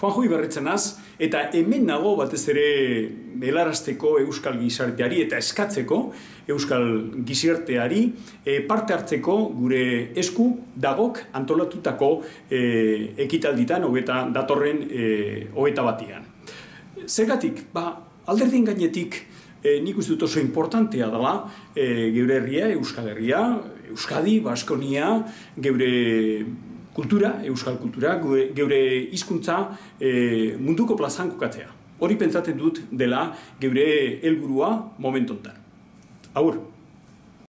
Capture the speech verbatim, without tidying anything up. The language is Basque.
Juanjo Ibarretxanaz, eta hemen nago batez ere helarazteko euskal gizarteari eta eskatzeko euskal gizarteari e, parte hartzeko gure esku dagok antolatutako e, ekitalditan hogeta datorren e, hogeta batian. Zergatik, ba, alderdien gainetik e, nik uste dut oso importantea dela e, geure herria, Euskal Herria, Euskadi, Baskonia, geure kultura, euskal kultura, geure hizkuntza e, munduko plazan kokatzea. Hori pentsatzen dut dela geure helburua momentu honetan. Agur!